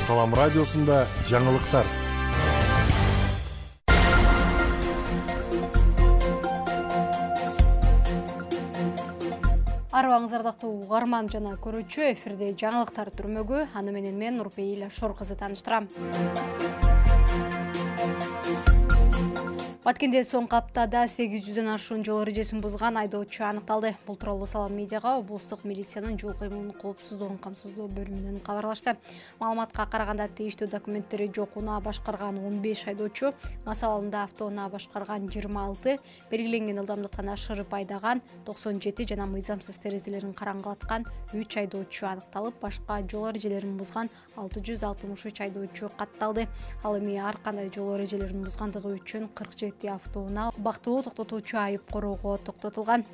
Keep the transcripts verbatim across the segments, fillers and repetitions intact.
Салам радиосунда жаңылыктар. Арбаңыз ардактуу угарман жана көрүүчү, эфирде жаңылыктар түрмөгү. Аны менен мен Нурпейил Шор кызы тааныштырам. Баткенде соңку аптада сегиз жүздөн ашуун жол эрежесин бузган айдоочу аныкталды. Бул тууралуу Салам медиага облустук милициянын жол кыймылынын коопсуздугун камсыздоо бөлүмүнөн кабарлашты. Маалыматка караганда тийиштүү документтери жок унаа башкарган он беш айдоочу, мас абалында автоунаа башкарган жыйырма алты, белгиленген ылдамдыктан ашырып айдаган токсон жети жана мыйзамсыз терезелерин караңгылаткан үч айдоочу аныкталып, башка жол эрежелерин бузган алты жүз алтымыш үч айдоочу катталды. Ал эми ар кандай жол эрежелерин бузгандыгы үчүн кырк жети автоунаа убактылуу токтотуучу айып короого токтотулган.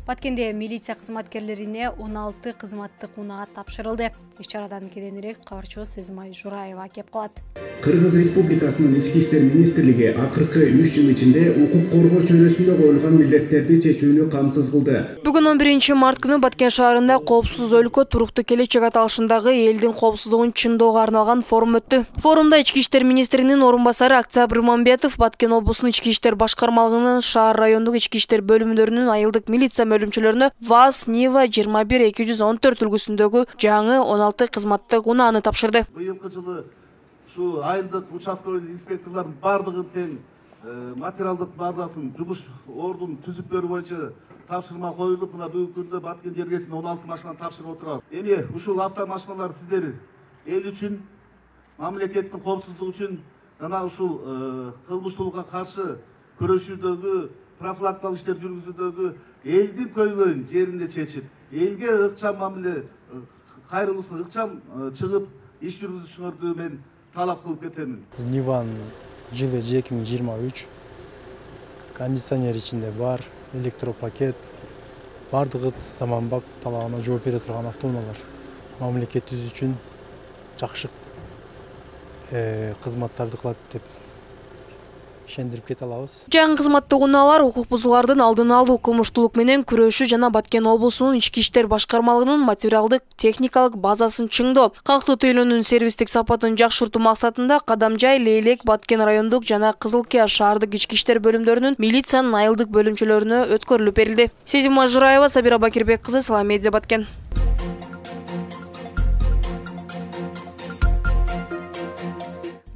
Баткенде милиция кызматкерлерине он алты кызматтык унаа тапшырылды. Иш-чарадан кийинирээк кабарчыбыз Сезимай Жураева кеп калат. Кыргыз Республикасынын Ички иштер министрлиги акыркы үч жыл ичинде укук коргоо чөйрөсүндө коюлган милдеттерди чечүүнү камсыз кылды. Бүгүн он биринчи март күнү Баткен шаарында коопсуз өлкө туруктуу келечек аталышындагы элдин коопсуздугун чыңдоого арналган форум өттү. Форумда Ички иштер министринин орун басары Октябрь Мамбетов, Баткен облусунун Ички иштер башкармалыгынын шаар райондук ички иштер бөлүмдөрүнүн айылдык милиция бөлүмчөлөрүнө ВАЗ, Нива жыйырма бир эки жүз он төрт үлгүсүндөгү жаңы он алты кызматтык унааны тапшырды. Быйылкы жылы ушу айылдык участкалык инспекторлордун бардыгын тең материалдык базасын, жумуш ордун түзүктөрү боюнча тапшырма коюлуп, мына бүгүнкү күндө Баткен жергесинде он алты машинаны тапшырып отурабыз. Эми ушул автомашиналар сиздер эл үчүн, мамлекеттин коопсуздугу үчүн жана ушул кылмыштуулукка каршы күрөшүүдөгү, профилактикалык иштер жүргүзүүдөгү элдин көйгөйүн жеринде чечип, элге ыкчам мамиле, кайрылуусуна ыкчам чыгып иш жүргүзүшүңөрдү мен талап кылып кетемин. Ниванын жылы эки миң жыйырма үч, кондиционер ичинде бар, электропакет, бардыгы заманбап талабына жооп бере турган автоунаалар. Мамлекетибиз үчүн жакшы кызматтарды кылат деп ишендирип кете алабыз. Жаңы кызматтык унаалар укук бузуулардын алдын алуу, кылмыштуулук менен күрөшүү жана Баткен облусунун ички иштер башкармалыгынын материалдык техникалык базасын чыңдоо, калктуу тейлөөнүн сервистик сапатын жакшыртуу максатында Кадамжай, Лейлек, Баткен райондук жана Кызылкия шаардык ички иштер бөлүмдөрүнүн милициянын айылдык бөлүмчөлөрүнө өткөрүлүп берилди. Сезимай Жураева, Сабира Бакирбек кызы, Салам медиа, Баткен.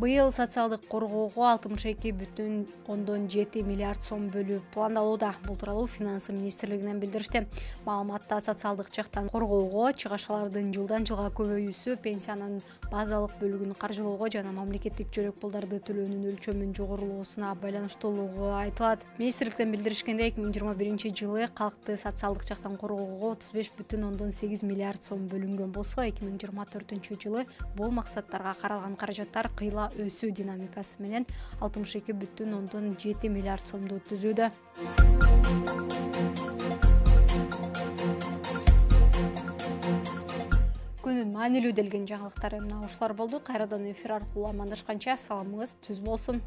Быйыл социалдык коргоого алтымыш эки бүтүн ондон жети миллиард сом бөлүү пландалууда. Бул тууралуу Финансы министрлигинен билдиришти. Маалыматта социалдык жактан коргоого, чыгашалардын жылдан жылга көбөйүүсү, пенсиянын базалык бөлүгүн каржылоого жана мамлекеттик жөлөк пулдарды төлөөнүн өлчөмүнүн жогорулоосуна байланыштуулугу айтылат. Министрликтен билдиришкендей, эки миң жыйырма биринчи жылы калкты социалдык жактан коргоого отуз беш бүтүн ондон сегиз миллиард сом бөлүнгөн болсо, эки миң жыйырма төртүнчү жылы бул максаттарга каралган каражаттар кыйла өсүү динамикасы менен алтымыш эки бүтүн ондон жети миллиард сомду түзүүдө. Күнүн маанилүү делген жаңылыктар эмне ушулар болду. Кайрадан эфир аркылуу амандашканча саламыңыз түз болсун.